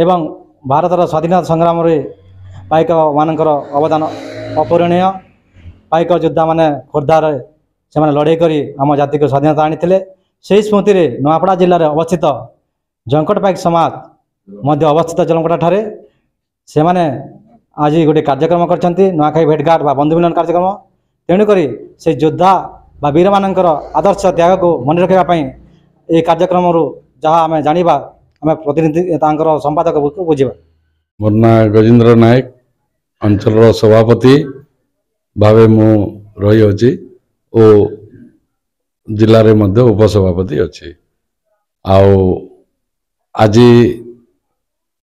ଏବଂ ଭାରତର ସ୍ୱାଧୀନତା ସଂଗ୍ରାମରେ ପାଇକମାନଙ୍କର ଅବଦାନ ଅପୂରଣୀୟ। ପାଇକ ଯୋଦ୍ଧାମାନେ ଖୋର୍ଦ୍ଧାରେ ସେମାନେ ଲଢ଼େଇ କରି ଆମ ଜାତିକୁ ସ୍ୱାଧୀନତା ଆଣିଥିଲେ। ସେହି ସ୍ମୃତିରେ ନୂଆପଡ଼ା ଜିଲ୍ଲାରେ ଅବସ୍ଥିତ ଝଙ୍କଟ ପାଇକ ସମାଜ ମଧ୍ୟ ଅବସ୍ଥିତ ଜଲମକଟା ଠାରେ ସେମାନେ ଆଜି ଗୋଟେ କାର୍ଯ୍ୟକ୍ରମ କରିଛନ୍ତି, ନୂଆଖାଇ ଭେଟଘାଟ ବା ବନ୍ଧୁ ମିଲନ କାର୍ଯ୍ୟକ୍ରମ। ତେଣୁକରି ସେ ଯୋଦ୍ଧା ବା ବୀରମାନଙ୍କର ଆଦର୍ଶ ତ୍ୟାଗକୁ ମନେ ରଖିବା ପାଇଁ ଏହି କାର୍ଯ୍ୟକ୍ରମରୁ ଯାହା ଆମେ ଜାଣିବା, ଆମେ ପ୍ରତିନିଧି ତାଙ୍କର ସମ୍ପାଦକକୁ ବୁଝିବା। ମୋର ନାଁ ଗଜେନ୍ଦ୍ର ନାୟକ, ଅଞ୍ଚଳର ସଭାପତି ଭାବେ ମୁଁ ରହିଅଛି ଓ ଜିଲ୍ଲାରେ ମଧ୍ୟ ଉପସଭାପତି ଅଛି। ଆଉ ଆଜି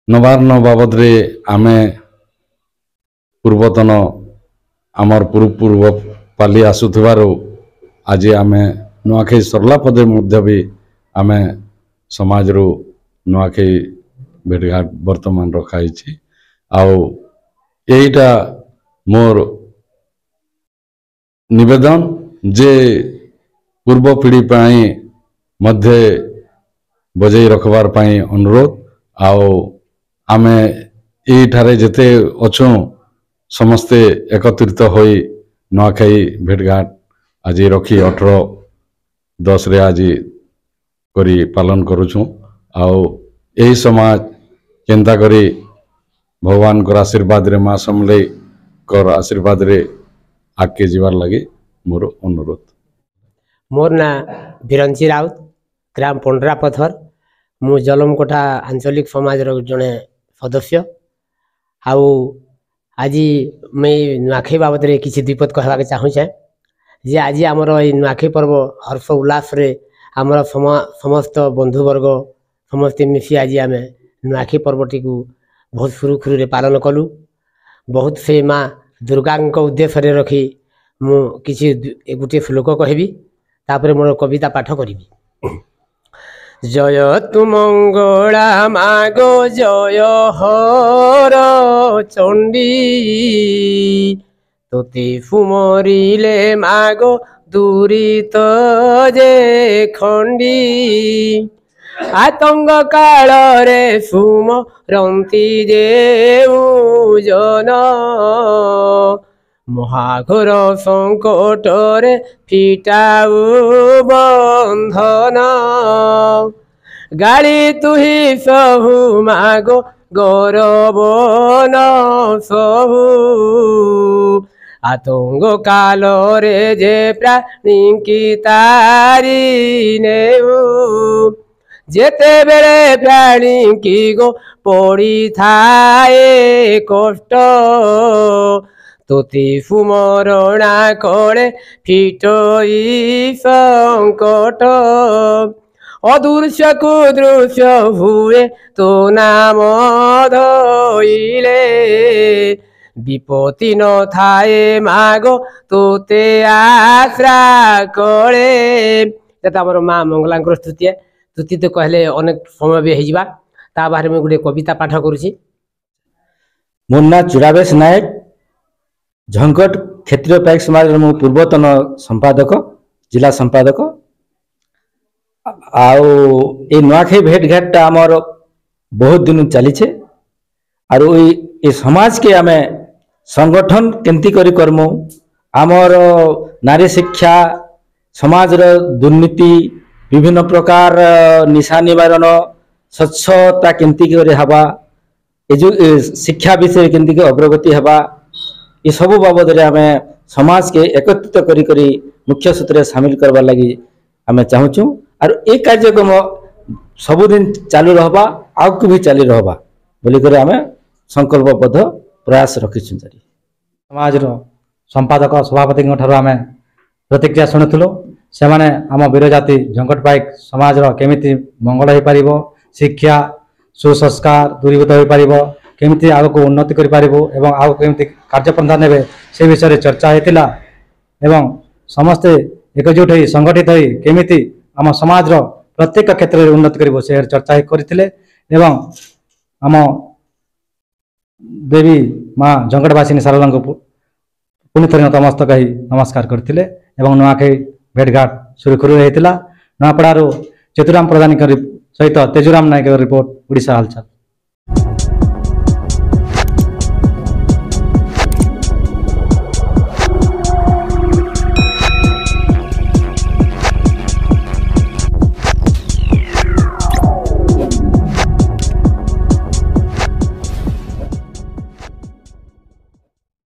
ନବାନ୍ନ ବାବଦରେ ଆମେ ପୂର୍ବତନ ଆମର ପୂର୍ବ ପାଲି ଆସୁଥିବାରୁ ଆଜି ଆମେ ନୂଆଖାଇ ସରିଲା ପରେ ମଧ୍ୟ ବି ଆମେ ସମାଜରୁ ନୂଆଖାଇ ଭେଟଘାଟ ବର୍ତ୍ତମାନ ରଖାହେଇଛି। ଆଉ ଏଇଟା ମୋର ନିବେଦନ ଯେ ପୂର୍ବ ପିଢ଼ି ପାଇଁ ମଧ୍ୟ ବଜାଇ ରଖବାର ପାଇଁ ଅନୁରୋଧ। ଆଉ ଆମେ ଏଇଠାରେ ଯେତେ ଅଛୁଁ ସମସ୍ତେ ଏକତ୍ରିତ ହୋଇ ନୂଆଖାଇ ଭେଟଘାଟ ଆଜି ରଖି 18/10ରେ ଆଜି କରି ପାଳନ କରୁଛୁଁ। ଆଉ ଏହି ସମାଜ କେନ୍ତା କରି ଭଗବାନଙ୍କର ଆଶୀର୍ବାଦରେ, ମା ସମଲେଇଙ୍କର ଆଶୀର୍ବାଦରେ ଆଗକେ ଯିବାର ଲାଗି ମୋର ଅନୁରୋଧ। ମୋର ନାଁ ବିରଞ୍ଚି ରାଉତ, ଗ୍ରାମ ପଣ୍ଡରା ପଥର। ମୁଁ ଜଲମକୋଟା ଆଞ୍ଚଳିକ ସମାଜର ଜଣେ ସଦସ୍ୟ। ଆଉ ଆଜି ମୁଇଁ ନୂଆଖାଇ ବାବଦରେ କିଛି ଦ୍ୱିପଦ କହିବାକୁ ଚାହୁଁଛେ ଯେ ଆଜି ଆମର ଏଇ ନୂଆଖାଇ ପର୍ବ ହର୍ଷ ଉଲ୍ଲାସରେ ଆମର ସମସ୍ତ ବନ୍ଧୁବର୍ଗ ସମସ୍ତେ ମିଶି ଆଜି ଆମେ ନୂଆଖାଇ ପର୍ବଟିକୁ ବହୁତ ସୁରୁଖୁରୁରେ ପାଳନ କଲୁ। ବହୁତ ସେ ମା ଦୁର୍ଗାଙ୍କ ଉଦ୍ଦେଶ୍ୟରେ ରଖି ମୁଁ କିଛି ଗୋଟିଏ ଶ୍ଲୋକ କହିବି, ତାପରେ ମୋର କବିତା ପାଠ କରିବି। ଜୟ ତୁ ମଙ୍ଗଳା ମାଗୋ ଜୟ ହର ଚଣ୍ଡୀ, ତୋତେ ସୁମରିଲେ ମାଗୋ ଦୂରିତ ଯେ ଖଣ୍ଡି, ଆତଙ୍ଗ କାଳରେ ସୁମରନ୍ତି ଯେଉଁ ଜନ, ମହାଘୋର ସଙ୍କଟରେ ଫିଟାଉ ବନ୍ଧନ, ଗାଳି ତୁହି ସହୁ ମାଗୋ ଗୌରବନ ସହୁ, ଆତଙ୍ଗ କାଳରେ ଯେ ପ୍ରାଣୀଙ୍କି ତାରି ନେଉ, ଯେତେବେଳେ ପ୍ରାଣୀଙ୍କି ଗୋ ପଡ଼ିଥାଏ କଷ୍ଟ, ତୋତେ ସୁମରଣା କଳେ ଫିଟଇ ସଙ୍କଟ, ଅଦୃଶ୍ୟକୁ ଦୃଶ୍ୟ ହୁଏ ତୋ ନାମ ଧଇଲେ, ବିପତ୍ତି ନଥାଏ ମାଗୋ ତୋତେ ଆଶ୍ରା କଳେ। ଯେତେ ଆମର ମା ମଙ୍ଗଳାଙ୍କର ସ୍ତୁତି, ସ୍ତୁତି ତ କହିଲେ ଅନେକ ସମୟ ବି ହେଇଯିବା। ତା ବାହାରେ ମୁଁ ଗୋଟେ କବିତା ପାଠ କରୁଛି। ମୋ ନାଁ ଚୁଡ଼ାବେଶ ନାୟକ, ଝଙ୍କଟ କ୍ଷେତ୍ରୀୟ ପାଇକ ସମାଜର ମୁଁ ପୂର୍ବତନ ସମ୍ପାଦକ, ଜିଲ୍ଲା ସମ୍ପାଦକ। ଆଉ ଏଇ ନୂଆଖାଇ ଭେଟଘାଟଟା ଆମର ବହୁତ ଦିନ ଚାଲିଛେ। ଆରୁ ଏଇ ସମାଜକେ ଆମେ ସଂଗଠନ କେମିତି କରି କରମୁ, ଆମର ନାରୀ ଶିକ୍ଷା, ସମାଜର ଦୁର୍ନୀତି, ବିଭିନ୍ନ ପ୍ରକାର ନିଶା ନିବାରଣ, ସ୍ୱଚ୍ଛତା କେମିତି କରି ହେବା, ଏ ଯେଉଁ ଶିକ୍ଷା ବିଷୟରେ କେମିତି ଅଗ୍ରଗତି ହେବା, ଏସବୁ ବାବଦରେ ଆମେ ସମାଜକେ ଏକତ୍ରିତ କରି କରି ମୁଖ୍ୟ ସୂତ୍ରରେ ସାମିଲ କରବାର ଲାଗି ଆମେ ଚାହୁଁଛୁ। ଆରୁ ଏ କାର୍ଯ୍ୟକ୍ରମ ସବୁଦିନ ଚାଲୁ ରହବା, ଆଗକୁ ବି ଚାଲି ରହବା ବୋଲିକରି ଆମେ ସଂକଳ୍ପବଦ୍ଧ ପ୍ରୟାସ ରଖିଛୁ। ଜାରି ସମାଜର ସମ୍ପାଦକ ସଭାପତିଙ୍କ ଠାରୁ ଆମେ ପ୍ରତିକ୍ରିୟା ଶୁଣୁଥିଲୁ। ସେମାନେ ଆମ ବୀରଜାତି ଝଙ୍କଟ ପାଇକ ସମାଜର କେମିତି ମଙ୍ଗଳ ହୋଇପାରିବ, ଶିକ୍ଷା ସୁସଂସ୍କାର ଦୂରୀଭୂତ ହୋଇପାରିବ, କେମିତି ଆଗକୁ ଉନ୍ନତି କରିପାରିବୁ ଏବଂ ଆଗକୁ କେମିତି କାର୍ଯ୍ୟପନ୍ଥା ନେବେ ସେ ବିଷୟରେ ଚର୍ଚ୍ଚା ହୋଇଥିଲା। ଏବଂ ସମସ୍ତେ ଏକଜୁଟ ହୋଇ ସଂଗଠିତ ହୋଇ କେମିତି ଆମ ସମାଜର ପ୍ରତ୍ୟେକ କ୍ଷେତ୍ରରେ ଉନ୍ନତି କରିବ ସେ ଚର୍ଚ୍ଚା କରିଥିଲେ। ଏବଂ ଆମ ଦେବୀ ମା ଝଙ୍କଟବାସିନୀ ଶାରଳାଙ୍କୁ ପୁଣି ଥରେ ନତମସ୍ତକ ହୋଇ ନମସ୍କାର କରିଥିଲେ ଏବଂ ନୂଆଖାଇ ଭେଟଘାଟ ସୁରୁଖୁରୁରେ ହେଇଥିଲା। ନୂଆପଡ଼ାରୁ ଚତୁରାମ ପ୍ରଧାନଙ୍କ ସହିତ ତେଜୁରାମ ନାୟକଙ୍କ ରିପୋର୍ଟ, ଓଡ଼ିଶା ହାଲଚାଲ।